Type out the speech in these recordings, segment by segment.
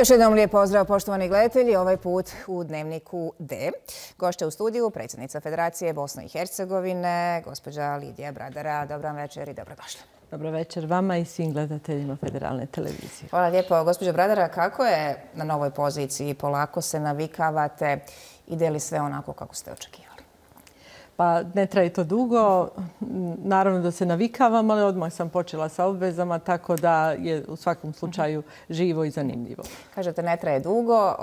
Još jednom lijep pozdrav, poštovani gledatelji, ovaj put u Dnevniku D. Gošća u studiju, predsjednica Federacije Bosne i Hercegovine, gospođa Lidija Bradara. Dobar večer i dobrodošli. Dobro večer vama i svim gledateljima Federalne televizije. Hvala lijepo. Gospođa Bradara, kako je na novoj poziciji? Polako se navikavate. Ide li sve onako kako ste očekivali? Pa ne traje to dugo. Naravno da se navikavam, ali odmah sam počela sa obvezama, tako da je u svakom slučaju živo i zanimljivo. Kažete ne traje dugo.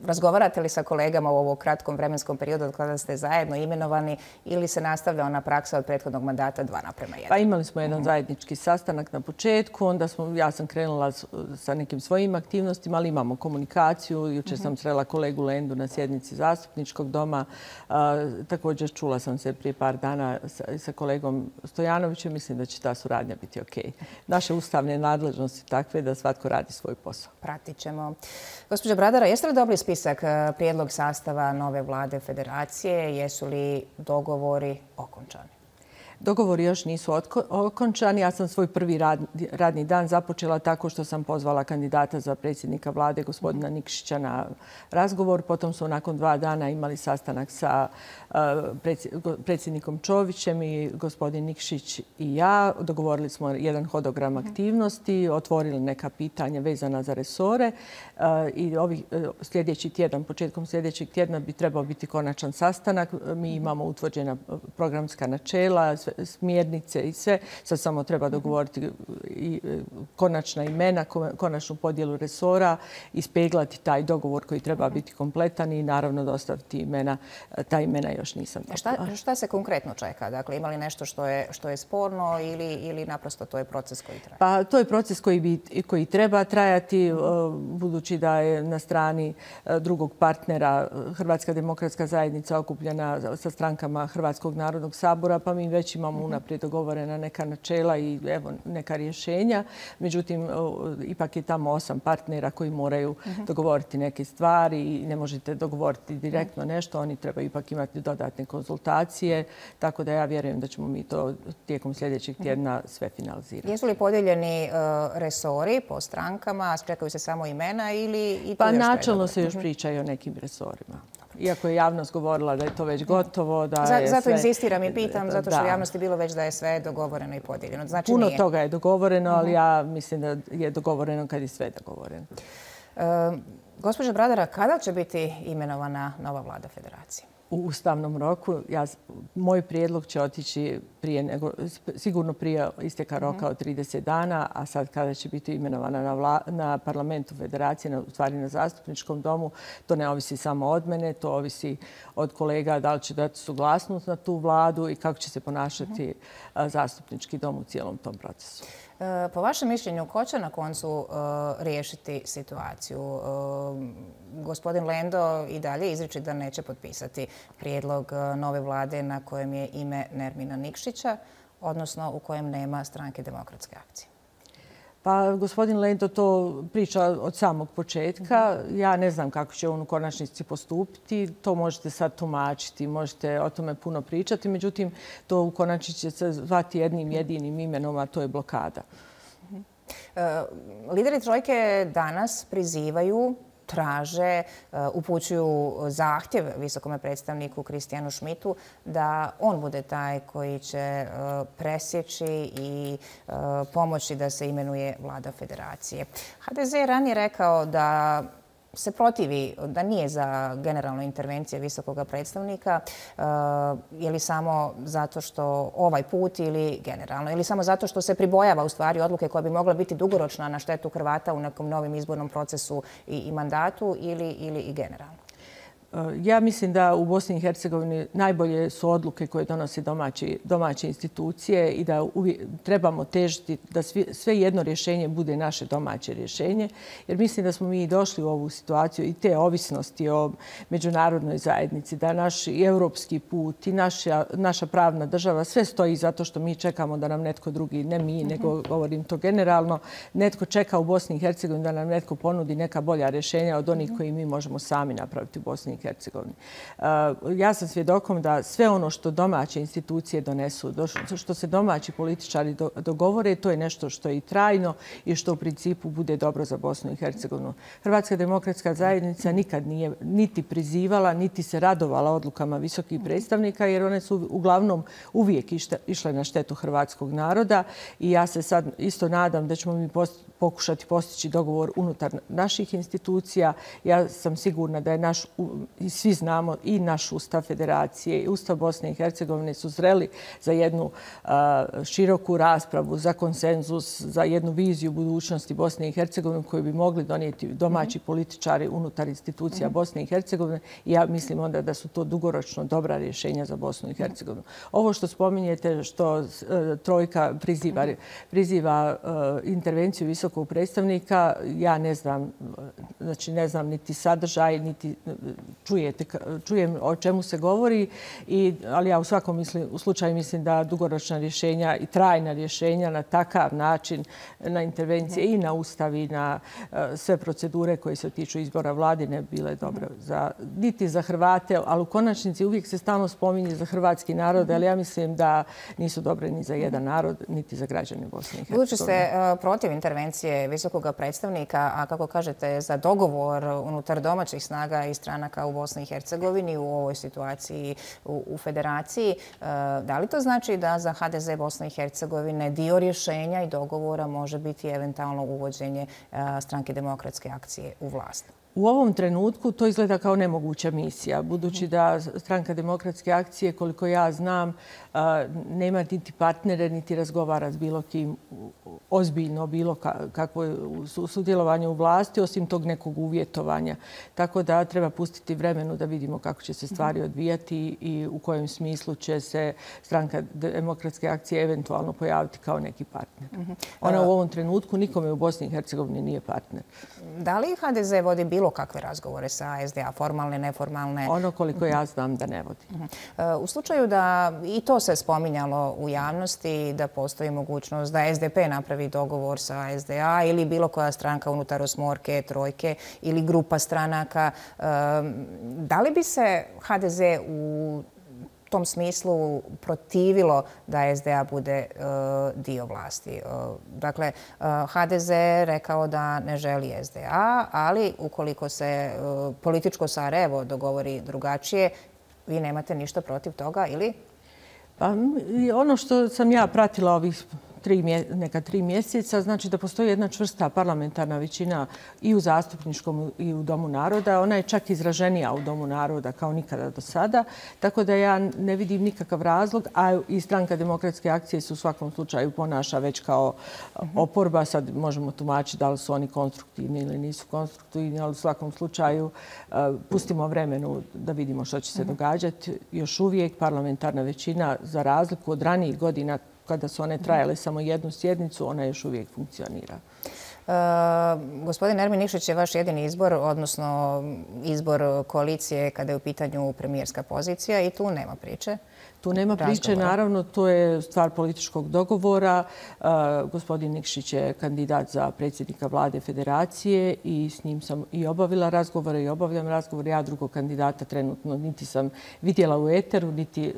Razgovarate li sa kolegama u ovom kratkom vremenskom periodu od kada ste zajedno imenovani ili se nastavlja ona praksa od prethodnog mandata 2:1? Pa imali smo jedan zajednički sastanak na početku, onda ja sam krenula sa nekim svojim aktivnostima, ali imamo komunikaciju. Jučer sam srela kolegu Lendu na sjednici zastupničkog doma. Također čula sam se prije par dana sa kolegom Stojanovićem. Mislim da će ta suradnja biti ok. Naše ustavne nadležnosti takve da svatko radi svoj posao. Pratit ćemo. Gospođa Bradara, jeste li dobili spisak prijedlog sastava nove vlade Federacije? Jesu li dogovori okončani? Dogovori još nisu okončani. Ja sam svoj prvi radni dan započela tako što sam pozvala kandidata za predsjednika vlade, gospodina Nikšića, na razgovor. Potom su nakon 2 dana imali sastanak sa predsjednikom Čovićem i gospodin Nikšić i ja. Dogovorili smo jedan hodogram aktivnosti, otvorili neka pitanja vezana za resore i početkom sljedećeg tjedna bi trebao biti konačan sastanak. Mi imamo utvrđena programska načela, smjernice i sve. Sad samo treba dogovoriti konačna imena, konačnu podjelu resora, ispeglati taj dogovor koji treba biti kompletan i naravno dostaviti imena. Ta imena još nisam dobila. Šta se konkretno čeka? Dakle, ima li nešto što je sporno ili naprosto to je proces koji traje? Pa to je proces koji treba trajati, budući da je na strani drugog partnera Hrvatska demokratska zajednica okupljena sa strankama Hrvatskog narodnog sabora, pa mi već imamo unaprijed dogovorena neka načela i evo neka rješenja. Međutim, ipak je tamo 8 partnera koji moraju dogovoriti neke stvari i ne možete dogovoriti direktno nešto. Oni trebaju ipak imati dodatne konzultacije, tako da ja vjerujem da ćemo mi to tijekom sljedećeg tjedna sve finalizirati. Jesu li podijeljeni resori po strankama, čekaju se samo imena ili i to pa još treba? Načelno se još priča i o nekim resorima. Iako je javnost govorila da je to već gotovo, Zato inzistiram i pitam, zato što u javnosti je bilo već da je sve dogovoreno i podijeljeno. Znači puno toga je dogovoreno, ali ja mislim da je dogovoreno kad je sve dogovoreno. Gospođa Bradara, kada će biti imenovana nova vlada Federacije? U ustavnom roku. Moj prijedlog će otići sigurno prije isteka roka od 30 dana, a sad kada će biti imenovana na parlamentu Federacije, u stvari na zastupničkom domu, to ne ovisi samo od mene, to ovisi od kolega da li će dati suglasnost na tu vladu i kako će se ponašati zastupnički dom u cijelom tom procesu. Po vašem mišljenju, ko će na koncu riješiti situaciju? Gospodin Lendo i dalje izriči da neće potpisati prijedlog nove vlade na kojem je ime Nermina Nikšića, odnosno u kojem nema Stranke demokratske akcije. Pa gospodin Lendo to priča od samog početka. Ja ne znam kako će on u konačnici postupiti. To možete sad tumačiti, možete o tome puno pričati. Međutim, to u konačnici će se zvati jednim jedinim imenom, a to je blokada. Lideri trojke danas prizivaju, traže, upućuju zahtjev visokome predstavniku Kristijanu Schmidtu da on bude taj koji će presjeći i pomoći da se imenuje vlada Federacije. HDZ je ranije rekao da se protivi, da nije za generalnu intervenciju visokog predstavnika, je li samo zato što ovaj put ili generalno, ili samo zato što se pribojava u stvari odluke koja bi mogla biti dugoročna na štetu Hrvata u nekom novim izbornom procesu i mandatu ili i generalno? Ja mislim da u Bosni i Hercegovini najbolje su odluke koje donose domaće institucije i da trebamo težiti da sve jedno rješenje bude naše domaće rješenje. Jer mislim da smo mi došli u ovu situaciju i te ovisnosti o međunarodnoj zajednici, da naš europski put i naša pravna država sve stoji zato što mi čekamo da nam netko drugi, ne mi, nego govorim to generalno, netko čeka u Bosni i Hercegovini da nam netko ponudi neka bolja rješenja od onih koji mi možemo sami napraviti u Bosni i i Hercegovini. Ja sam svjedokom da sve ono što domaće institucije donesu, što se domaći političari dogovore, to je nešto što je i trajno i što u principu bude dobro za Bosnu i Hercegovinu. Hrvatska demokratska zajednica nikad nije niti prizivala, niti se radovala odlukama visokih predstavnika, jer one su uglavnom uvijek išle na štetu hrvatskog naroda i ja se sad isto nadam da ćemo mi pokušati postići dogovor unutar naših institucija. Ja sam sigurna da je i svi znamo, i naš Ustav Federacije i Ustav Bosne i Hercegovine su zreli za jednu široku raspravu, za konsenzus, za jednu viziju budućnosti Bosne i Hercegovine koju bi mogli donijeti domaći političari unutar institucija Bosne i Hercegovine i ja mislim onda da su to dugoročno dobra rješenja za Bosnu i Hercegovinu. Ovo što spominjete, što trojka priziva intervenciju visokog predstavnika, ja ne znam, znači ne znam niti sadržaj, niti čujem o čemu se govori, ali ja u svakom slučaju mislim da dugoročna rješenja i trajna rješenja na takav način, na intervencije i na Ustav i na sve procedure koje se tiču izbora vlade ne bi bile dobre niti za Hrvate, ali u konačnici uvijek se stalno spominje za hrvatski narod, ali ja mislim da nisu dobre ni za jedan narod, niti za građane Bosne i Hercegovine. Budući ste protiv intervencije visokog predstavnika, a kako kažete za dogovor unutar domaćih snaga i stranaka u Bosni i Hercegovini u ovoj situaciji u Federaciji, da li to znači da za HDZ Bosne i Hercegovine dio rješenja i dogovora može biti eventualno uvođenje Stranke demokratske akcije u vlast? U ovom trenutku to izgleda kao nemoguća misija, budući da Stranka demokratske akcije, koliko ja znam, nema niti partnere, niti razgovara s bilo kim ozbiljno, bilo kakvo sudjelovanje u vlasti, osim tog nekog uvjetovanja. Tako da treba pustiti vremenu da vidimo kako će se stvari odvijati i u kojem smislu će se Stranka demokratske akcije eventualno pojaviti kao neki partner. Ona u ovom trenutku nikome u Bosni i Hercegovini nije partner. Da li HDZ vodi bilo kakve razgovore sa SDA, formalne, neformalne? Ono koliko ja znam da ne vodi. U slučaju da, i to se spominjalo u javnosti, da postoji mogućnost da SDP napravi dogovor sa SDA ili bilo koja stranka unutar osmorke, trojke ili grupa stranaka, da li bi se HDZ u tom smislu protivilo da SDA bude dio vlasti? Dakle, HDZ rekao da ne želi SDA, ali ukoliko se političko Sarajevo dogovori drugačije, vi nemate ništa protiv toga ili? Pa, ono što sam ja pratila ovih neka 3 mjeseca, znači da postoji jedna čvrsta parlamentarna većina i u zastupničkom i u Domu naroda. Ona je čak izraženija u Domu naroda kao nikada do sada, tako da ja ne vidim nikakav razlog, a i Stranka demokratske akcije se u svakom slučaju ponaša već kao oporba. Sad možemo tumačiti da li su oni konstruktivni ili nisu konstruktivni, ali u svakom slučaju pustimo vremenu da vidimo što će se događati. Još uvijek parlamentarna većina, za razliku od ranijih godina kada su one trajale samo jednu sjednicu, ona još uvijek funkcionira. Gospodin Ermin Nikšić je vaš jedini izbor, odnosno izbor koalicije kada je u pitanju premijerska pozicija i tu nema priče. Tu nema priče, naravno, to je stvar političkog dogovora. Gospodin Nikšić je kandidat za predsjednika vlade Federacije i s njim sam i obavila razgovore i obavljam razgovore. Ja drugog kandidata trenutno niti sam vidjela u eteru, niti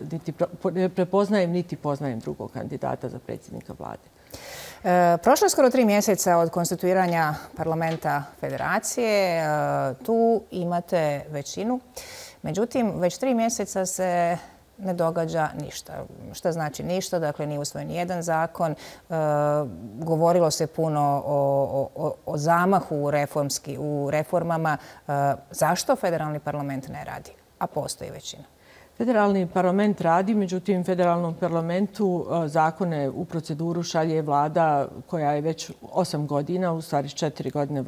prepoznajem, niti poznajem drugog kandidata za predsjednika vlade. Prošlo je skoro 3 mjeseca od konstituiranja parlamenta Federacije. Tu imate većinu. Međutim, već 3 mjeseca se ne događa ništa. Šta znači ništa? Dakle, nije usvojen jedan zakon. Govorilo se puno o zamahu u reformama. Zašto federalni parlament ne radi? A postoji većina. Federalni parlament radi, međutim, federalnom parlamentu zakone u proceduru šalje vlada koja je već 8 godina, u stvari 4 godine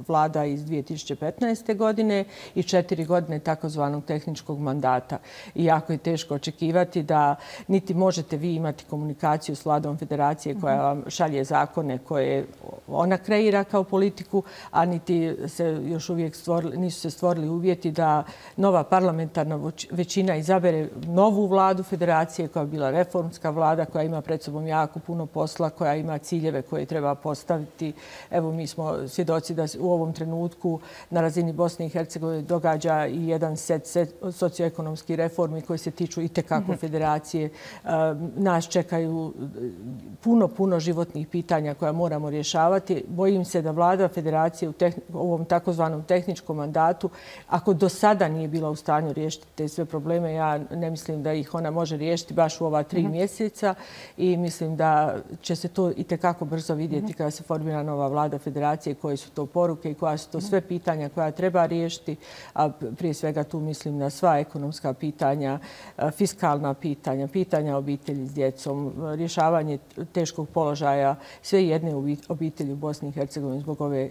vlada iz 2015. godine i 4 godine takozvanog tehničkog mandata. I jako je teško očekivati da niti možete vi imati komunikaciju s vladom Federacije koja vam šalje zakone koje ona kreira kao politiku, a niti se još uvijek nisu se stvorili uvjeti da nova parlamentarna većina izabere novu vladu federacije koja je bila reformska vlada, koja ima pred sobom jako puno posla, koja ima ciljeve koje treba postaviti. Evo, mi smo svjedoci da u ovom trenutku na razini Bosne i Hercegovine događa i jedan set socioekonomskih reformi koji se tiču itekako federacije. Nas čekaju puno životnih pitanja koja moramo rješavati. Bojim se da vlada federacije u ovom takozvanom tehničkom mandatu, ako do sada nije bila u stanju riješiti te sve probleme, ja ne mislim da ih ona može riješiti baš u ova 3 mjeseca i mislim da će se to itekako brzo vidjeti kada se formira nova vlada federacije, koje su to poruke i koja su to sve pitanja koja treba riješiti, a prije svega tu mislim na sva ekonomska pitanja, fiskalna pitanja, pitanja obitelji s djecom, rješavanje teškog položaja sve jedne obitelji u Bosni i Hercegovini zbog ove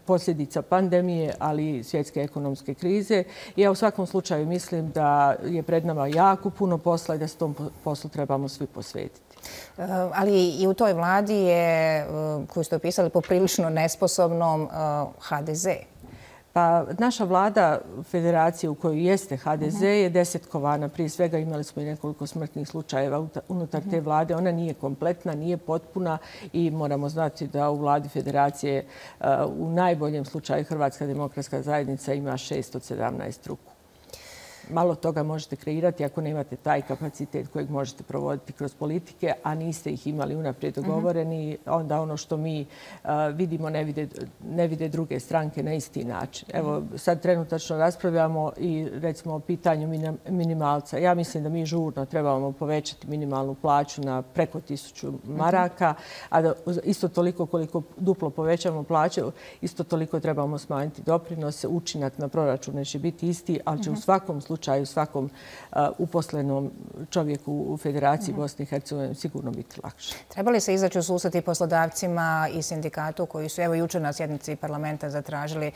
posljedica pandemije, ali i svjetske ekonomske krize. I ja u svakom slučaju mislim da je pred nama jako puno posla i da se tom poslu trebamo svi posvetiti. Ali i u toj vladi je, koju ste opisali, poprilično nesposobnom HDZ. Pa naša vlada federacije u kojoj jeste HDZ je desetkovana. Prije svega imali smo i nekoliko smrtnih slučajeva unutar te vlade. Ona nije kompletna, nije potpuna i moramo znati da u vladi federacije u najboljem slučaju Hrvatska demokratska zajednica ima 6 od 17 ruku. Malo toga možete kreirati ako nemate taj kapacitet kojeg možete provoditi kroz politike, a niste ih imali unaprijed dogovoreni. Onda ono što mi vidimo ne vide druge stranke na isti način. Evo, sad trenutačno raspravljamo i recimo o pitanju minimalca. Ja mislim da mi žurno trebamo povećati minimalnu plaću na preko 1000 maraka, a da isto toliko koliko duplo povećamo plaću, isto toliko trebamo smanjiti doprinose. Učinak na proračun neće biti isti, ali će u svakom slučaju svakom uposlenom čovjeku u Federaciji Bosne i Hercegovine sigurno biti lakše. Treba li se izaći u susret i poslodavcima i sindikatu koji su evo jučer na sjednici parlamenta zatražili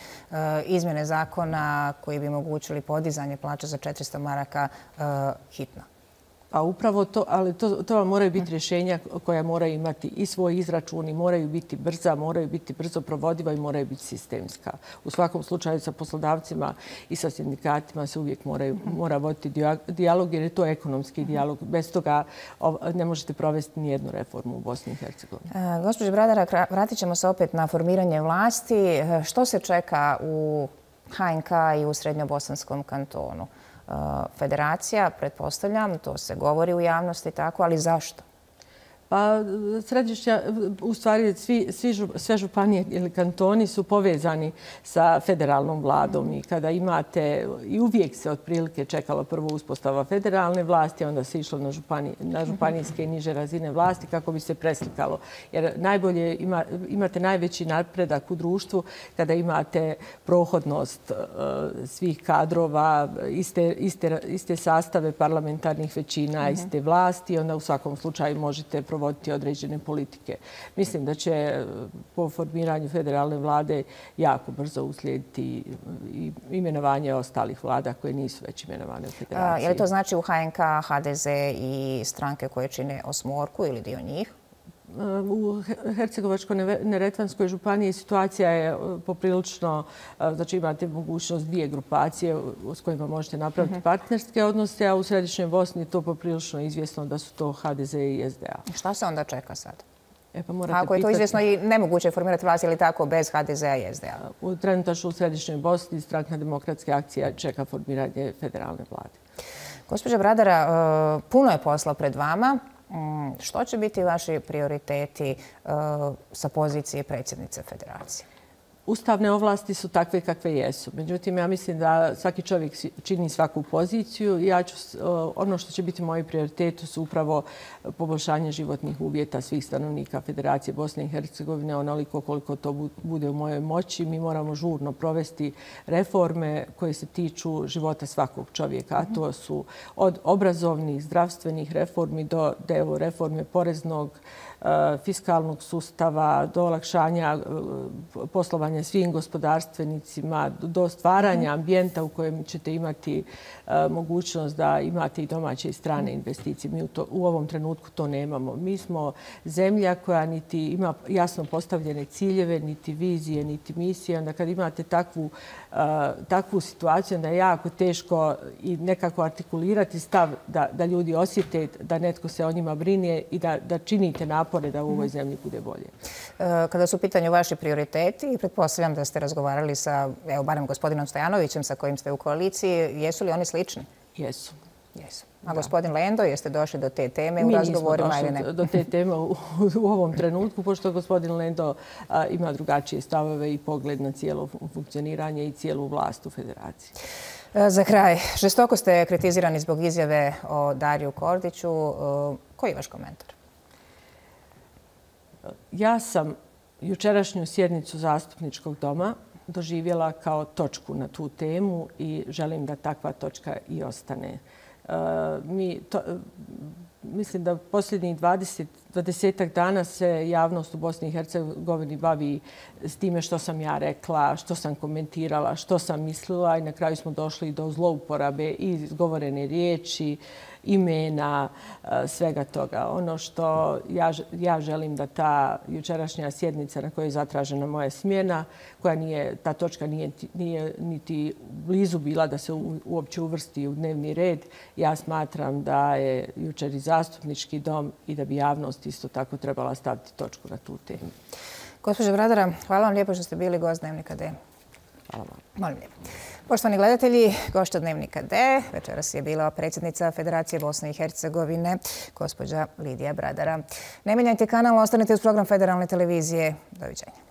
izmjene zakona koji bi omogućili podizanje plaća za 400 maraka hitno? Pa upravo to, ali to vam moraju biti rješenja koja moraju imati i svoj izračun i moraju biti brza, moraju biti brzo provodiva i moraju biti sistemska. U svakom slučaju sa poslodavcima i sa sindikatima se uvijek mora voditi dijalog jer je to ekonomski dijalog. Bez toga ne možete provesti nijednu reformu u Bosni i Hercegovini. Gospođo Bradara, vratit ćemo se opet na formiranje vlasti. Što se čeka u HNK i u Srednjobosanskom kantonu? Federacija, pretpostavljam, to se govori u javnosti tako, ali zašto? Pa središnja, u stvari sve županije ili kantoni su povezani sa federalnom vladom i kada imate, i uvijek se otprilike čekalo prvo uspostava federalne vlasti, onda se išlo na županijske i niže razine vlasti kako bi se preslikalo. Jer najbolje imate najveći napredak u društvu kada imate prohodnost svih kadrova, iste sastave parlamentarnih većina, iste vlasti, onda u svakom slučaju možete provoditi određene politike. Mislim da će po formiranju federalne vlade jako brzo uslijediti i imenovanje ostalih vlada koje nisu već imenovane u federaciji. Je li to znači u HNK, HDZ i stranke koje čine osmorku ili dio njih? U Hercegovačko-neretvanskoj županiji situacija je poprilično, znači imate mogućnost 2 grupacije s kojima možete napraviti partnerske odnose, a u Središnjoj Bosni je to poprilično izvjesno da su to HDZ i SDA. Šta se onda čeka sad? Ako je to izvjesno i nemoguće je formirati vlast ili tako bez HDZ-a i SDA? Trenutačno u Središnjoj Bosni Stranka demokratske akcije čeka formiranje federalne vlade. Gospođa Bradara, puno je posla pred vama. Što će biti vaši prioriteti sa pozicije predsjednice federacije? Ustavne ovlasti su takve kakve jesu. Međutim, ja mislim da svaki čovjek čini svaku poziciju. Ono što će biti moji prioriteti su upravo poboljšanje životnih uvjeta svih stanovnika Federacije Bosne i Hercegovine, onoliko koliko to bude u mojoj moći. Mi moramo žurno provesti reforme koje se tiču života svakog čovjeka, a to su od obrazovnih, zdravstvenih reformi do reforme poreznog fiskalnog sustava, do olakšanja poslovanja svim gospodarstvenicima, do stvaranja ambijenta u kojem ćete imati mogućnost da imate i domaće i strane investicije. Mi u ovom trenutku to nemamo. Mi smo zemlja koja niti ima jasno postavljene ciljeve, niti vizije, niti misije. Onda kad imate takvu situaciju, onda je jako teško i nekako artikulirati stav da ljudi osjete da netko se o njima brine i da činite napore da u ovoj zemlji bude bolje. Kada su u pitanju vaši prioriteti, pretpostavljam da ste razgovarali sa, evo, barem gospodinom Stojanovićem sa kojim ste u koaliciji, jesu li oni slični? Jesu. Jesu. A gospodin Lendo, jeste došli do te teme u razgovorima? Mi nismo došli do te teme u ovom trenutku, pošto gospodin Lendo ima drugačije stavove i pogled na cijelo funkcioniranje i cijelu vlast u federaciji. Za kraj, žestoko ste kritizirani zbog izjave o Dariju Kordiću. Koji je vaš komentar? Ja sam jučerašnju sjednicu Zastupničkog doma doživjela kao točku na tu temu i želim da takva točka i ostane. Mislim da posljednjih 20-ak dana se javnost u Bosni i Hercegovini bavi s time što sam ja rekla, što sam komentirala, što sam mislila i na kraju smo došli do zlouporabe i izgovorene riječi, imena, svega toga. Ono što ja želim da ta jučerašnja sjednica na kojoj je zatražena moja smjena, ta točka nije niti blizu bila da se uopće uvrsti u dnevni red, ja smatram da je jučer i Zastupnički dom i da bi javnost isto tako trebala staviti točku na tu temu. Gospođo Bradara, hvala vam lijepo što ste bili gost Dnevnika D. Hvala vam. Molim lijepo. Poštovani gledatelji, gošća Dnevnika D večeras je bila predsjednica Federacije Bosne i Hercegovine, gospođa Lidija Bradara. Ne mijenjajte kanal, ostanite uz program Federalne televizije. Doviđenja.